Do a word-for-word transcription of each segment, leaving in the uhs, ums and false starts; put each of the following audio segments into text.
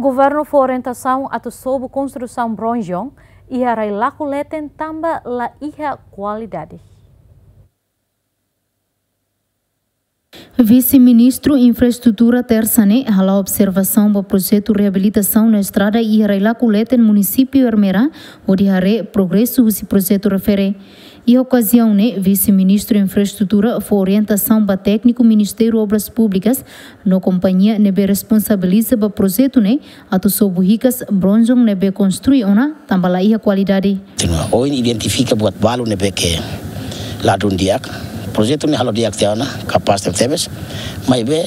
Governu fó orientasaun atu sobu konstrusaun bronjon iha rai-laku leten tanba la iha kualidade. Vise-Ministru Infraestrutura Tersa ne'e hala'o observasaun ba projetu reabilitasaun no estrada iha rai-laku leten munisípiu Ermera, hodi haree progresu husi projetu refere. Iha okaziaun ne'e, Vise-Ministru Infraestrutura fó orientasaun ba tékniku Ministériu Obras Públikas no kompañia ne'ebé responsabiliza ba projetu ne'e atu sobu hikas bronjon ne'ebé konstrui ona tanba la iha kualidade. Ohin identifika buat balu ne'ebé ke ladún di'ak. Projetu ne'e halo di'ak tiha ona, kapás tebes. Maibé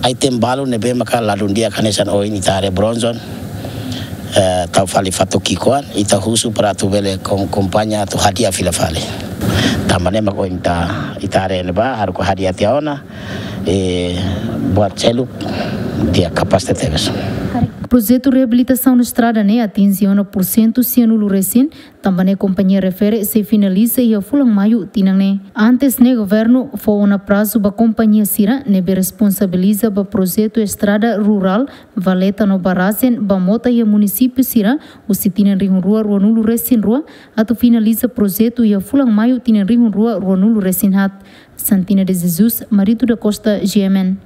item balu ne'ebé maka ladún di'ak hanesan ohin ita haree bronjon, eh, tau fali fatuk ki'ikoan, ita husu para atu bele kom-, kompañia atu hadi'a fila fali. Tanba ne'e mak ohin ita, ita haree ne'ebá, haruka hadi'a tiha ona, eh, buat seluk di'ak, kapás tebes. Projetu reabilitasaun estrada ne'e atinje ona pursentu sianulu resin, tanba ne'e kompañia refere sei finaliza iha fulan Maiu tinan ne'e. Antes ne'e governu fó ona prazu ba kompañia sira ne'ebé responsabiliza ba projetu estrada rurál, valeta no barajen ba mota iha munisípiu sira, husi tinan rihun rua ruanulu resin rua, atu finaliza projetu iha fulan Maiu tinan rihun rua ruanulu resin haat. Santina de Jesus, Marito da Costa, G M N.